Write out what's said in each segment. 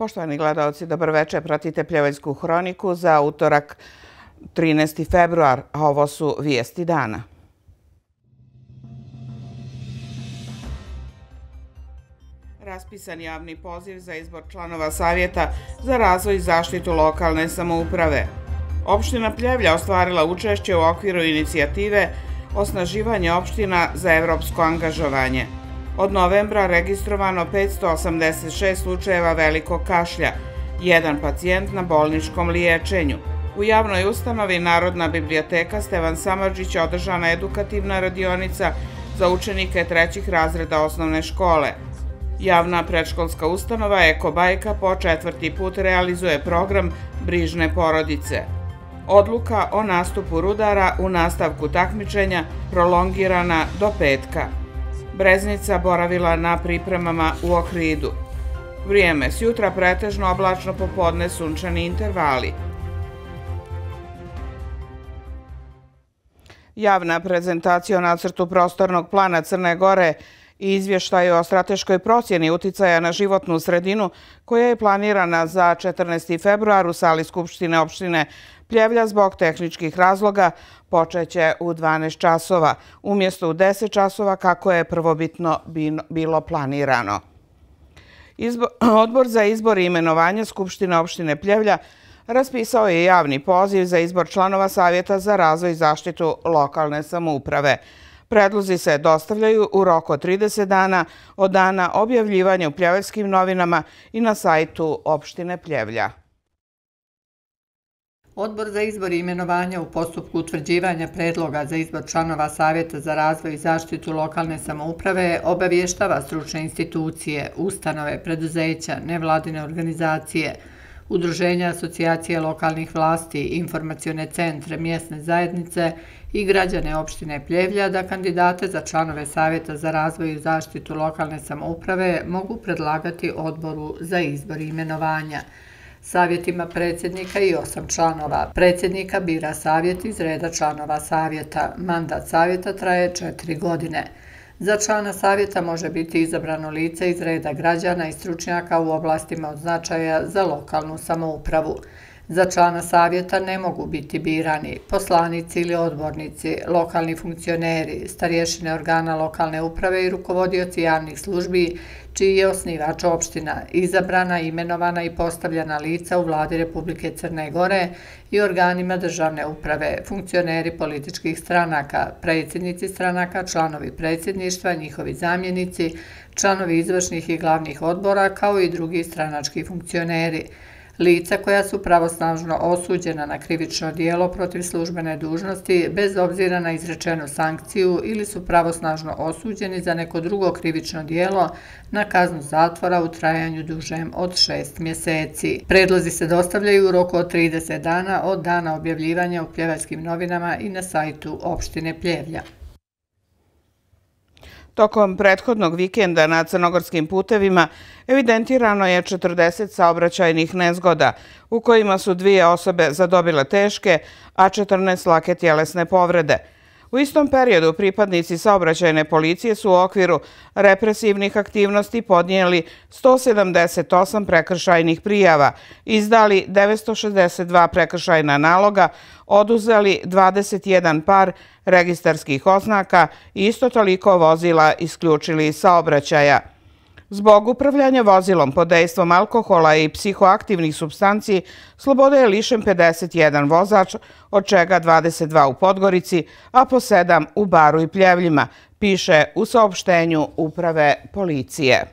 Poštovani gledalci, dobar večer. Pratite Pljevaljsku hroniku za utorak 13. februar, a ovo su vijesti dana. Raspisan javni poziv za izbor članova Savjeta za razvoj i zaštitu lokalne samouprave. Opština Pljevlja ostvarila učešće u okviru inicijative Osnaživanje opština za evropsko angažovanje. Od novembra registrovano 586 slučajeva velikog kašlja, jedan pacijent na bolničkom liječenju. U javnoj ustanovi Narodna biblioteka Stevan Samardžić održana edukativna radionica za učenike trećih razreda osnovne škole. Javna predškolska ustanova Eko Bajka po 4. put realizuje program Brižne porodice. Odluka o nastupu rudara u nastavku takmičenja prolongirana do petka. Breznica boravila na pripremama u Ohridu. Vrijeme s jutra pretežno oblačno, popodne sunčani intervali. Javna prezentacija o nacrtu prostornog plana Crne Gore i izvještaju o strateškoj procjeni uticaja na životnu sredinu koja je planirana za 14. februar u sali Skupštine opštine Pljevlja zbog tehničkih razloga počeće u 12 časova, umjesto u 10 časova kako je prvobitno bilo planirano. Odbor za izbor i imenovanje Skupštine opštine Pljevlja raspisao je javni poziv za izbor članova Savjeta za razvoj i zaštitu lokalne samouprave. Predlozi se dostavljaju u roku od 30 dana od dana objavljivanja u Pljevaljskim novinama i na sajtu opštine Pljevlja. Odbor za izbor i imenovanja u postupku utvrđivanja predloga za izbor članova Savjeta za razvoj i zaštitu lokalne samouprave obavještava stručne institucije, ustanove, preduzeća, nevladine organizacije, udruženja asocijacije lokalnih vlasti, informacione centre, mjesne zajednice i građane opštine Pljevlja da kandidate za članove Savjeta za razvoj i zaštitu lokalne samouprave mogu predlagati odboru za izbor i imenovanja. Savjet ima predsjednika i 8 članova. Predsjednika bira savjet iz reda članova savjeta. Mandat savjeta traje 4 godine. Za člana savjeta može biti izabrano lice iz reda građana i stručnjaka u oblastima od značaja za lokalnu samoupravu. Za člana savjeta ne mogu biti birani poslanici ili odbornici, lokalni funkcioneri, starješine organa lokalne uprave i rukovodioci javnih službi čiji je osnivač opština, izabrana, imenovana i postavljena lica u vladi Republike Crne Gore i organima državne uprave, funkcioneri političkih stranaka, predsjednici stranaka, članovi predsjedništva, njihovi zamjenici, članovi izvršnih i glavnih odbora kao i drugi stranački funkcioneri. Lica koja su pravosnažno osuđena na krivično djelo protiv službene dužnosti bez obzira na izrečenu sankciju ili su pravosnažno osuđeni za neko drugo krivično djelo na kaznu zatvora u trajanju dužem od 6 mjeseci. Predlozi se dostavljaju u roku od 30 dana od dana objavljivanja u Pljevaljskim novinama i na sajtu opštine Pljevlja. Tokom prethodnog vikenda na crnogorskim putevima evidentirano je 40 saobraćajnih nezgoda, u kojima su 2 osobe zadobile teške, a 14 lake tjelesne povrede. U istom periodu pripadnici saobraćajne policije su u okviru represivnih aktivnosti podnijeli 178 prekršajnih prijava, izdali 962 prekršajna naloga, oduzeli 21 par registarskih oznaka i isto toliko vozila isključili iz saobraćaja. Zbog upravljanja vozilom pod dejstvom alkohola i psihoaktivnih supstanci slobode je lišen 51 vozač, od čega 22 u Podgorici, a po 7 u Baru i Pljevljima, piše u saopštenju Uprave policije.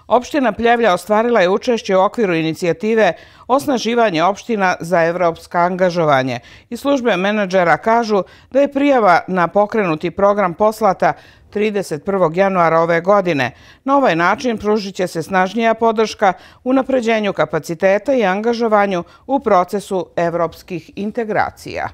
Opština Pljevlja ostvarila je učešće u okviru inicijative Osnaživanje opština za evropsko angažovanje i službe menadžera kažu da je prijava na pokrenuti program poslata 31. januara ove godine. Na ovaj način pružit će se snažnija podrška unapređenju kapaciteta i angažovanju u procesu evropskih integracija.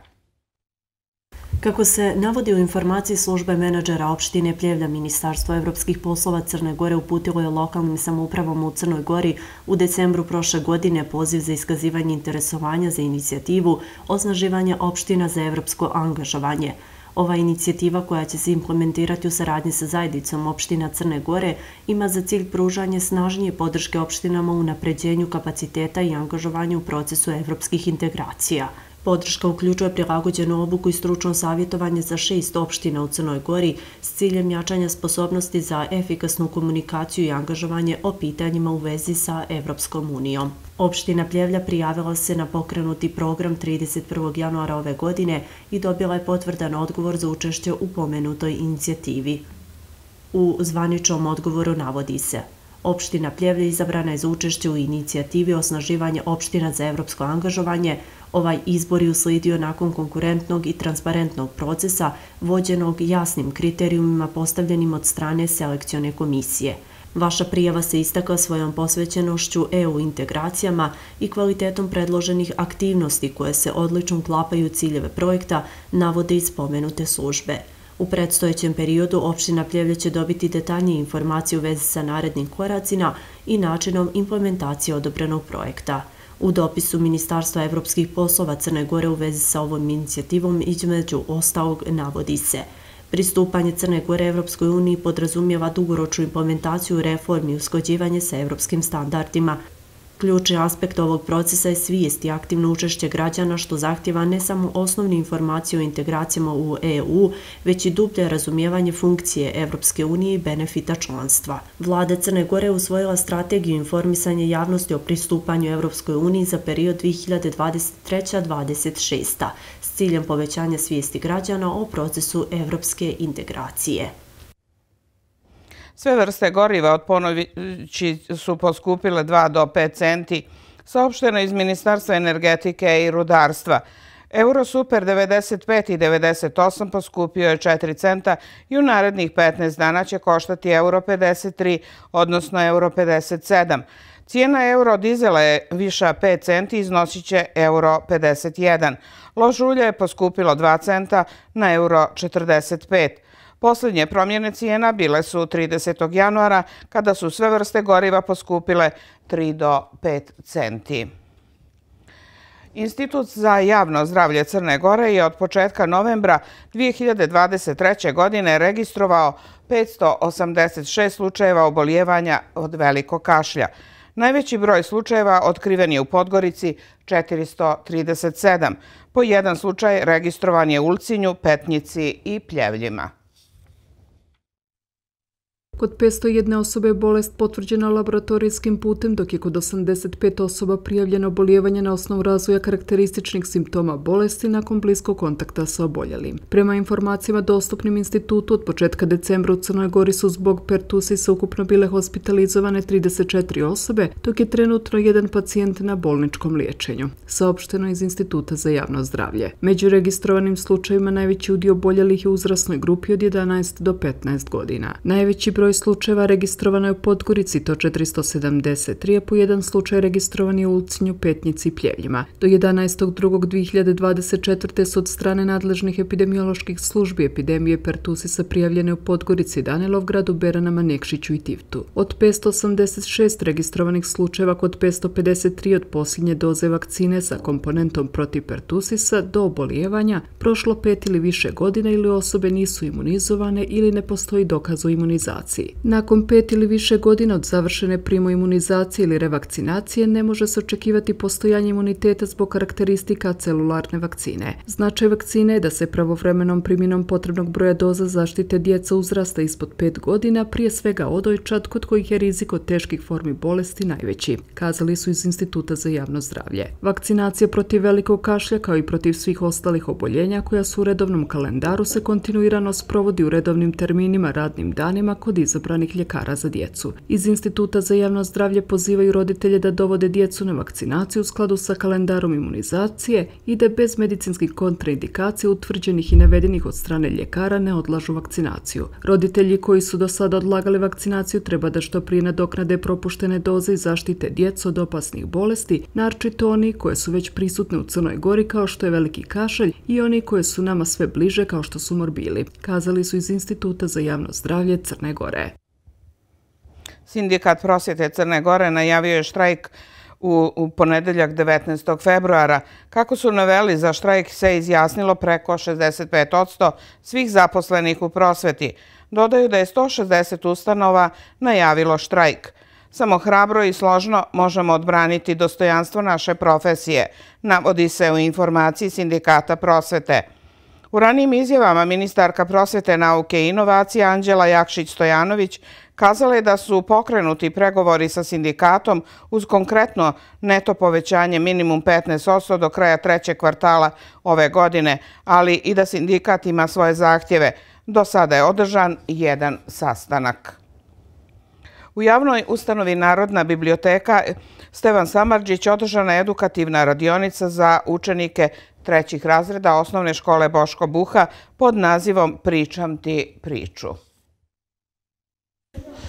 Kako se navodi u informaciji službe menadžera opštine Pljevlja, Ministarstvo evropskih poslova Crne Gore uputilo je lokalnim samoupravama u Crnoj Gori u decembru prošle godine poziv za iskazivanje interesovanja za inicijativu Osnaživanje opština za evropsko angažovanje. Ova inicijativa koja će se implementirati u saradnji sa zajednicom opština Crne Gore ima za cilj pružanje snažnije podrške opštinama u unapređenju kapaciteta i angažovanju u procesu evropskih integracija. Podrška uključuje prilagođenu obuku i stručno savjetovanje za 6 opština u Crnoj Gori s ciljem jačanja sposobnosti za efikasnu komunikaciju i angažovanje o pitanjima u vezi sa Evropskom unijom. Opština Pljevlja prijavila se na pokrenuti program 31. januara ove godine i dobila je potvrdan odgovor za učešće u pomenutoj inicijativi. U zvaničnom odgovoru navodi se: opština Pljevlja izabrana je za učešće u inicijativi osnaživanje opština za evropsko angažovanje. Ovaj izbor je uslijedio nakon konkurentnog i transparentnog procesa vođenog jasnim kriterijumima postavljenim od strane selekcione komisije. Vaša prijava se istakla svojom posvećenošću EU integracijama i kvalitetom predloženih aktivnosti koje se odlično uklapaju u ciljeve projekta, navode iz spomenute službe. U predstojećem periodu opština Pljevlja će dobiti detaljnije informacije u vezi sa narednim koracima i načinom implementacije odobrenog projekta. U dopisu Ministarstva evropskih poslova Crne Gore u vezi sa ovom inicijativom između ostalog navodi se: pristupanje Crne Gore Evropskoj uniji podrazumijeva dugoročnu implementaciju reformi i usklađivanje sa evropskim standardima. Ključni aspekt ovog procesa je svijest i aktivno učešće građana, što zahtjeva ne samo osnovne informacije o integracijama u EU, već i dublje razumijevanje funkcije Evropske unije i benefita članstva. Vlada Crne Gore je usvojila strategiju informisanja javnosti o pristupanju Evropskoj uniji za period 2023-2026 s ciljem povećanja svijesti građana o procesu evropske integracije. Sve vrste goriva od ponoći su poskupile 2 do 5 centi, saopšteno iz Ministarstva energetike i rudarstva. Euro Super 95 i 98 poskupio je 4 centa i u narednih 15 dana će koštati euro 53, odnosno euro 57. Cijena euro dizela je viša 5 centi i iznosit će euro 51. Lož ulje je poskupilo 2 centa na euro 45. Posljednje promjene cijena bile su 30. januara, kada su sve vrste goriva poskupile 3 do 5 centi. Institut za javno zdravlje Crne Gore je od početka novembra 2023. godine registrovao 586 slučajeva obolijevanja od velikog kašlja. Najveći broj slučajeva otkriven je u Podgorici, 437. Po jedan slučaj registrovan je u Ulcinju, Petnici i Pljevljima. Kod 501 osobe je bolest potvrđena laboratorijskim putem, dok je kod 85 osoba prijavljeno obolijevanje na osnovu razvoja karakterističnih simptoma bolesti nakon bliskog kontakta sa oboljelim. Prema informacijama dostupnim institutu, od početka decembra u Crnoj Gori su zbog pertusisa ukupno bile hospitalizovane 34 osobe, dok je trenutno jedan pacijent na bolničkom liječenju, saopšteno iz Instituta za javno zdravlje. Među registrovanim slučajevima najveći udio oboljelih je u uzrasnoj grupi od 11 do 15 godina. Najveći broj slučajeva registrovano je u Podgorici, to 473, a po jedan slučaj registrovan je u Ulcinju, Petnici i Pljevljima. Do 11.2.2024. su od strane nadležnih epidemioloških službi epidemije pertusisa prijavljene u Podgorici, Danilovgradu, Beranama, Nekšiću i Tivtu. Od 586 registrovanih slučajeva kod 553 od posljednje doze vakcine sa komponentom protiv pertusisa do obolijevanja prošlo 5 ili više godina ili osobe nisu imunizovane ili ne postoji dokaz o imunizaciji. Nakon 5 ili više godina od završene primoimunizacije ili revakcinacije ne može se očekivati postojanje imuniteta zbog karakteristika celularne vakcine. Značaj vakcine je da se pravovremenom primjenom potrebnog broja doza zaštite djeca uzrasta ispod 5 godina, prije svega odojčad kod kojih je rizik od teških formi bolesti najveći, kazali su iz Instituta za javno zdravlje. Vakcinacija protiv velikog kašlja kao i protiv svih ostalih oboljenja koja su u redovnom kalendaru se kontinuirano sprovodi u redovnim terminima radnim danima kod izabranih ljekara za djecu. Iz Instituta za javno zdravlje pozivaju roditelje da dovode djecu na vakcinaciju u skladu sa kalendarom imunizacije i da bez medicinskih kontraindikacija utvrđenih i navedenih od strane ljekara ne odlažu vakcinaciju. Roditelji koji su do sada odlagali vakcinaciju treba da što prije nadoknade propuštene doze i zaštite djecu od opasnih bolesti, naročito oni koje su već prisutne u Crnoj Gori kao što je veliki kašalj i oni koje su nama sve bliže kao što su morbili, kazali su iz Instituta za javno zdravlje Crne Gore. Sindikat prosvjete Crne Gore najavio je štrajk U ponedeljak 19. februara, kako su naveli, za štrajk se izjasnilo preko 65% svih zaposlenih u prosveti. Dodaju da je 160 ustanova najavilo štrajk. Samo hrabro i složno možemo odbraniti dostojanstvo naše profesije, navodi se u informaciji Sindikata prosvete. U ranijim izjavama ministarka prosvete, nauke i inovacija Anđela Jakšić-Stojanović kazala je da su pokrenuti pregovori sa sindikatom uz konkretno neto povećanje minimum 15% do kraja trećeg kvartala ove godine, ali i da sindikat ima svoje zahtjeve. Do sada je održan jedan sastanak. U javnoj ustanovi Narodna biblioteka Stevan Samardžić održana je edukativna radionica za učenike trećih razreda osnovne škole Boško Buha pod nazivom Pričam ti priču.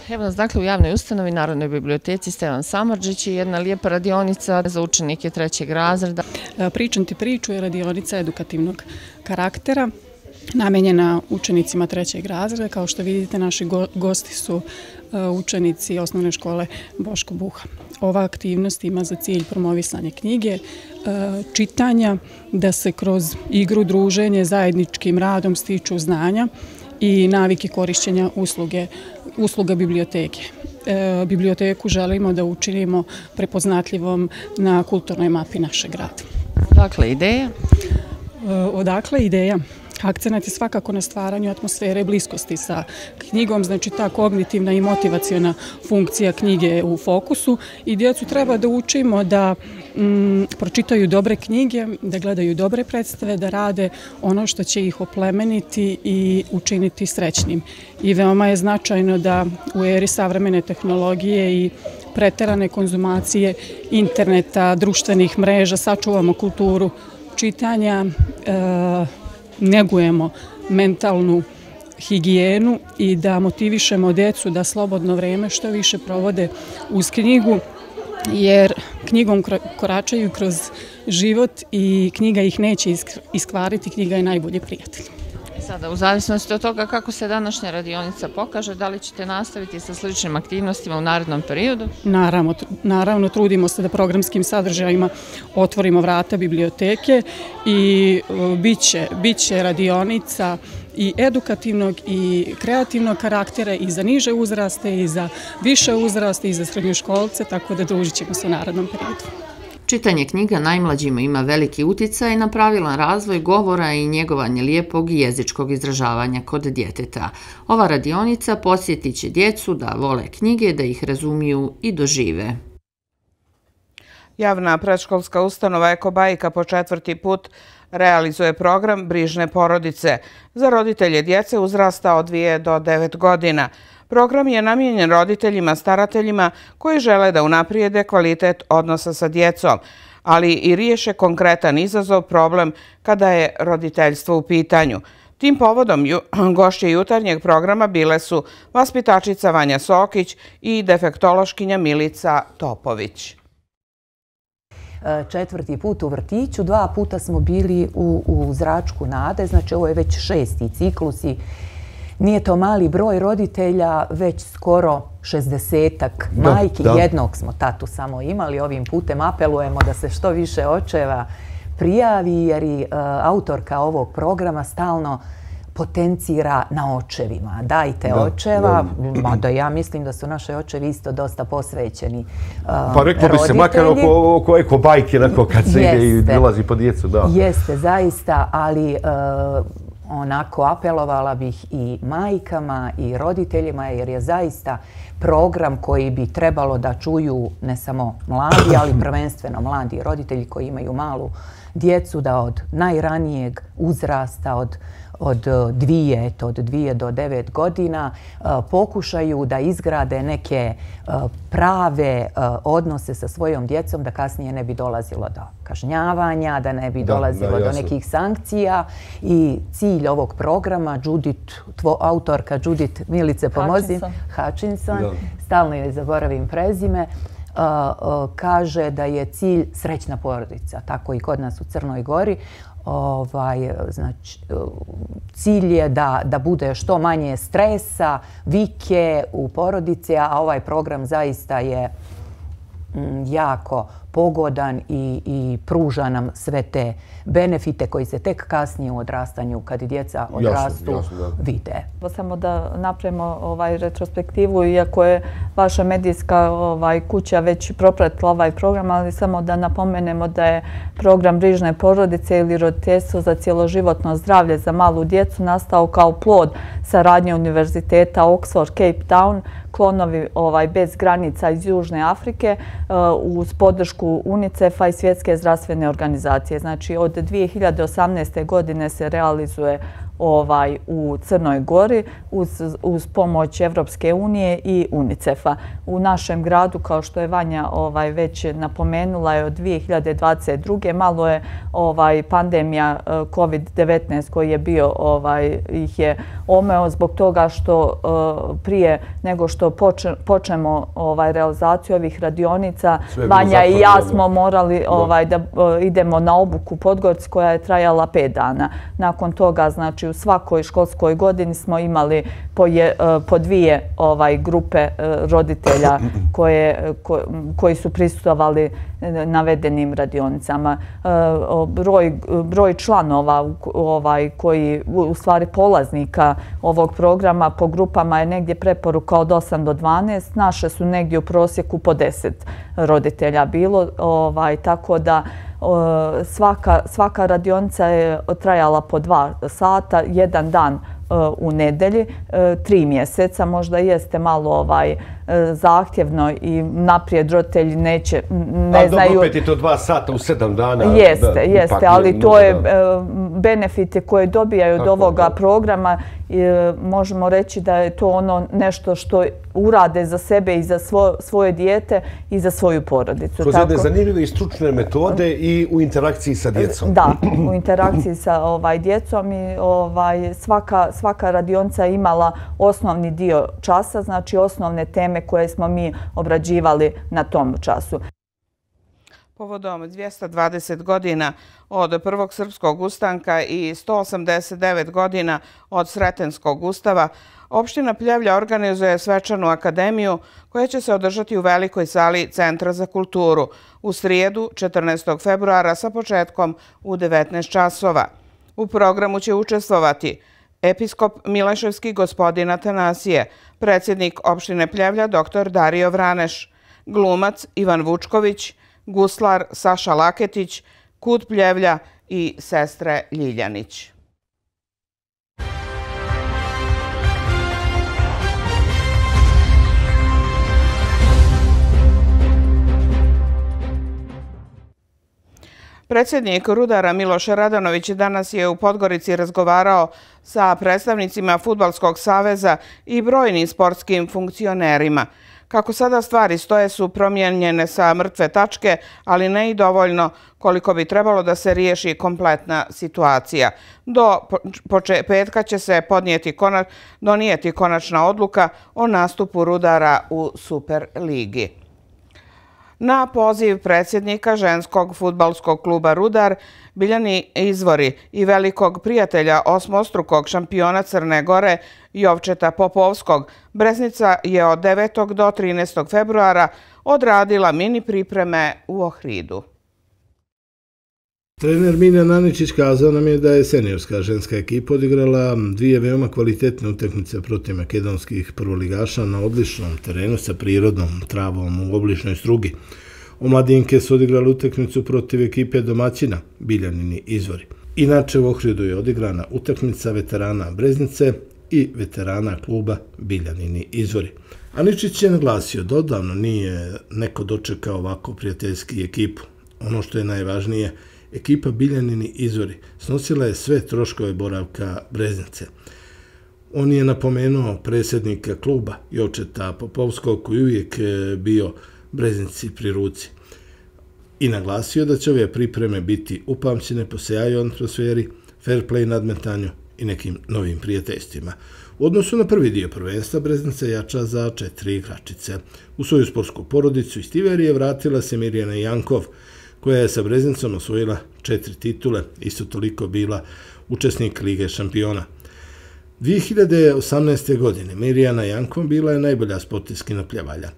Evo nas dakle u javnoj ustanovi Narodnoj biblioteci Stevan Samardžić i jedna lijepa radionica za učenike trećeg razreda. Pričam ti priču je radionica edukativnog karaktera, namenjena učenicima trećeg razreda. Kao što vidite, naši gosti su učenici osnovne škole Boško Buha. Ova aktivnost ima za cilj promovisanje knjige, čitanja, da se kroz igru, druženje, zajedničkim radom stiču znanja i navike korišćenja usluga biblioteke. Biblioteku želimo da učinimo prepoznatljivom na kulturnoj mapi našeg grada. Odakle ideja? Odakle ideja? Akcenat je svakako na stvaranju atmosfere bliskosti sa knjigom, znači ta kognitivna i motivaciona funkcija knjige je u fokusu i djecu treba da učimo da pročitaju dobre knjige, da gledaju dobre predstave, da rade ono što će ih oplemeniti i učiniti srećnim. I veoma je značajno da u eri savremene tehnologije i preterane konzumacije interneta, društvenih mreža, sačuvamo kulturu čitanja, negujemo mentalnu higijenu i da motivišemo djecu da slobodno vreme što više provode uz knjigu, jer knjigom koračaju kroz život i knjiga ih neće iskvariti, knjiga je najbolji prijatelj. Sada, u zavisnosti od toga kako se današnja radionica pokaže, da li ćete nastaviti sa sličnim aktivnostima u narednom periodu? Naravno, trudimo se da programskim sadržajima otvorimo vrata biblioteke i bit će radionica i edukativnog i kreativnog karaktera i za niže uzraste i za više uzraste i za srednjoškolce, tako da družit ćemo se u narednom periodu. Čitanje knjiga najmlađima ima veliki uticaj na pravilan razvoj govora i njegovanje lijepog i jezičkog izražavanja kod djeteta. Ova radionica podsjetit će djecu da vole knjige, da ih razumiju i dožive. Javna predškolska ustanova Eko Bajka po 4. put realizuje program Brižne porodice za roditelje djece uzrasta od 2 do 9 godina. Program je namijenjen roditeljima, starateljima koji žele da unaprijede kvalitet odnosa sa djecom, ali i riješe konkretan izazov, problem kada je roditeljstvo u pitanju. Tim povodom gošće jutarnjeg programa bile su vaspitačica Vanja Sokić i defektološkinja Milica Topović. 4. put u vrtiću, 2 puta smo bili u Zračku nade, znači ovo je već 6. ciklus i nije to mali broj roditelja, već skoro 60-ak majki. Jednog smo tatu samo imali. Ovim putem apelujemo da se što više očeva prijavi, jer i autorka ovog programa stalno potencira na očevima. Dajte očeva, mada ja mislim da su naše očevi isto dosta posvećeni roditelji. Pa reklo bi se, makar oko Eko Bajke, kad se ide i dolazi po djecu. Jeste, zaista, ali onako apelovala bih i majkama i roditeljima, jer je zaista program koji bi trebalo da čuju ne samo mladi, ali prvenstveno mladi roditelji koji imaju malu djecu, da od najranijeg uzrasta, od 2 do 9 godina pokušaju da izgrade neke prave odnose sa svojom djecom, da kasnije ne bi dolazilo do kažnjavanja, da ne bi dolazilo do nekih sankcija. I cilj ovog programa, autorka Judith, Milice pomozi, Hutchinson, stalno joj zaboravim prezime, kaže da je cilj srećna porodica, tako i kod nas u Crnoj Gori. Znači, cilj je da bude što manje stresa, vike u porodici, a ovaj program zaista je jako pogodan i pruža nam sve te benefite koji se tek kasnije u odrastanju, kad djeca odrastu, vide. Samo da napravimo retrospektivu, iako je vaša medijska kuća već propratila ovaj program, ali samo da napomenemo da je program Brižne porodice ili roditeljstvo za cjeloživotno zdravlje za malu djecu nastao kao plod saradnje Univerziteta Oxford, Cape Town, Klonovi bez granica iz Južne Afrike uz podršku UNICEF-a i Svjetske zdravstvene organizacije. Znači od 2018. godine se realizuje u Crnoj Gori uz pomoć Evropske unije i UNICEF-a. U našem gradu, kao što je Vanja već napomenula, je od 2022. malo je pandemija COVID-19 koji je bio, ih je omeo zbog toga što prije nego što počnemo realizaciju ovih radionica, Vanja i ja smo morali da idemo na obuku u Podgorici koja je trajala 5 dana. Nakon toga, znači, u svakoj školskoj godini smo imali po 2 grupe roditelja koji su prisustvovali navedenim radionicama. Broj članova koji, u stvari polaznika ovog programa po grupama je negdje preporuka od 8 do 12. Naše su negdje u prosjeku po 10 roditelja bilo, tako da svaka radionica je trajala po 2 sata, jedan dan u nedelji, 3 mjeseca. Možda jeste malo zahtjevno i naprijed roditelji ne znaju... Dobro, opet je to 2 sata u 7 dana. Jeste, ali to je benefite koje dobijaju od ovoga programa. Možemo reći da je to ono nešto što urade za sebe i za svoje dijete i za svoju porodicu. Kroz jedne zanimljive i stručne metode i u interakciji sa djecom. Da, u interakciji sa djecom i svaka radionica je imala osnovni dio časa, znači osnovne teme koje smo mi obrađivali na tom času. Povodom 220 godina od Prvog srpskog ustanka i 189 godina od Sretenskog ustava, opština Pljevlja organizuje svečanu akademiju koja će se održati u velikoj sali Centra za kulturu u srijedu 14. februara sa početkom u 19 časova. U programu će učestvovati episkop Mileševski gospodin Atanasije, predsjednik opštine Pljevlja dr. Dario Vraneš, glumac Ivan Vučković, guslar Saša Laketić, Kut Pljevlja i sestre Ljiljanić. Predsjednik Rudara Miloš Radanović danas je u Podgorici razgovarao sa predstavnicima Fudbalskog saveza i brojnim sportskim funkcionerima. Kako sada stvari stoje su promijenjene sa mrtve tačke, ali ne i dovoljno koliko bi trebalo da se riješi kompletna situacija. Do petka će se donijeti konačna odluka o nastupu Rudara u Superligi. Na poziv predsjednika ženskog fudbalskog kluba Rudar, Biljani Izvori i velikog prijatelja osmostrukog šampiona Crne Gore Jovčeta Popovskog, Breznica je od 9. do 13. februara odradila mini pripreme u Ohridu. Trener Miljan Aničić kazao nam je da je seniorska ženska ekipa odigrala 2 veoma kvalitetne utakmice protiv makedonskih prvoligaša na odličnom terenu sa prirodnom travom u obličnoj strugi. Omladinke su odigrali utakmicu protiv ekipe domaćina Biljanini Izvori. Inače u Ohridu je odigrana utakmica veterana Breznice i veterana kluba Biljanini Izvori. Aničić je naglasio da odavno nije neko dočekao ovako prijateljski ekipu. Ono što je najvažnije, ekipa Biljanini Izvori snosila je sve troškove boravka Breznice. On je napomenuo predsjednika kluba Jovčeta Popovskog koji uvijek bio Breznici pri ruci i naglasio da će ove pripreme biti upamćene po sjaju atmosferi, fair play nadmetanju i nekim novim prijateljstvima. U odnosu na prvi dio prvenstva, Breznica jača za 4 igračice. U svoju sportsku porodicu iz Tiverije vratila se Mirjana Jankov, koja je sa Breznicom osvojila 4 titule, isto toliko bila učesnik Lige šampiona. 2018. godine Mirjana Jankov bila je najbolja sportistkinja Pljevalja.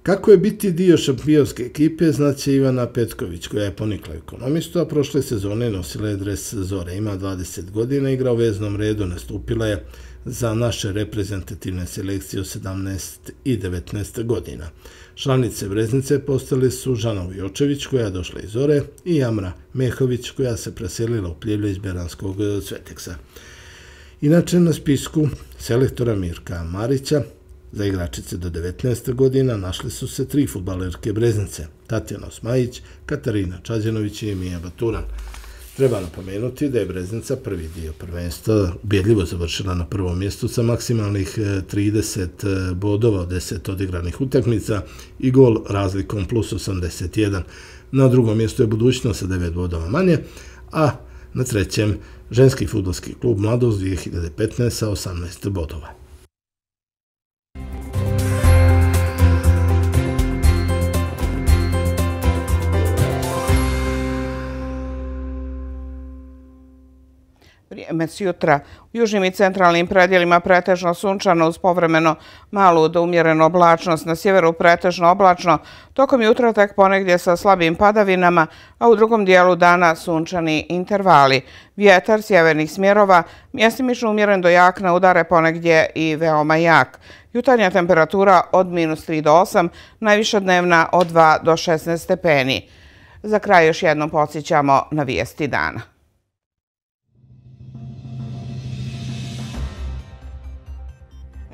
Kako je biti dio šampionske ekipe, znaće Ivana Petković, koja je ponikla ekonomistu, a prošle sezone nosila je dres Zore. Ima 20 godina, igra u veznom redu, nastupila je za naše reprezentativne selekcije u 17 i 19 godina. Članice Breznice postale su Žana Ujočević, koja je došla iz Zore, i Jamra Mehović, koja se preselila u Pljevlje iz Beranskog Cveteksa. Inače, na spisku selektora Mirka Marića za igračice do 19 godina našli su se 3 fudbalerke Breznice: Tatjana Osmajić, Katarina Čađanović i Mija Baturan. Treba napomenuti da je Breznica prvi dio prvenstva ubjedljivo završila na prvom mjestu sa maksimalnih 30 bodova od 10 odigranih utakmica i gol razlikom plus 81. Na drugom mjestu je Budućnost sa 9 bodova manje, a na trećem ženski fudbalski klub Mladost 2015 sa 18 bodova. Vrijeme sjutra. U južnim i centralnim predjelima pretežno sunčano uz povremeno malu do umjerenu oblačnost. Na sjeveru pretežno oblačno, tokom jutra tek ponegdje sa slabim padavinama, a u drugom dijelu dana sunčani intervali. Vjetar sjevernih smjerova mjestimično umjeren do jak, na udare ponegdje i veoma jak. Jutarnja temperatura od -3 do 8, najviša dnevna od 2 do 16 stepeni. Za kraj još jednom podsjećamo na vijesti dana.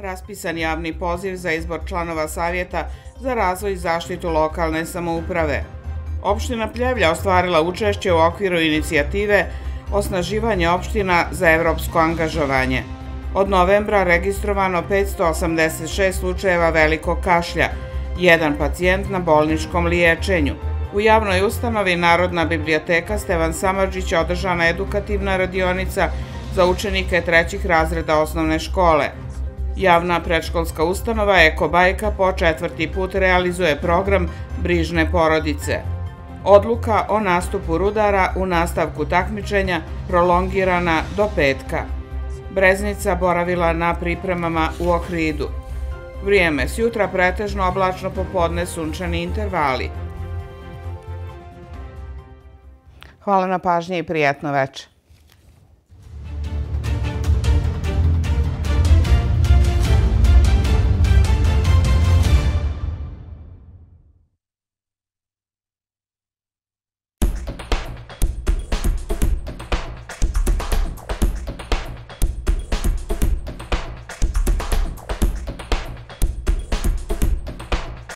Raspisan javni poziv za izbor članova Savjeta za razvoj i zaštitu lokalne samouprave. Opština Pljevlja ostvarila učešće u okviru inicijative Osnaživanje opština za evropsko angažovanje. Od novembra registrovano 586 slučajeva velikog kašlja, 1 pacijent na bolničkom liječenju. U javnoj ustanovi Narodna biblioteka Stevan Samardžić održana edukativna radionica za učenike 3. razreda osnovne škole. Javna predškolska ustanova Eko Bajka po 4. put realizuje program Brižne porodice. Odluka o nastupu rudara u nastavku takmičenja prolongirana do petka. Breznica boravila na pripremama u Ohridu. Vrijeme sjutra pretežno oblačno, popodne sunčani intervali. Hvala na pažnji i prijatno večer.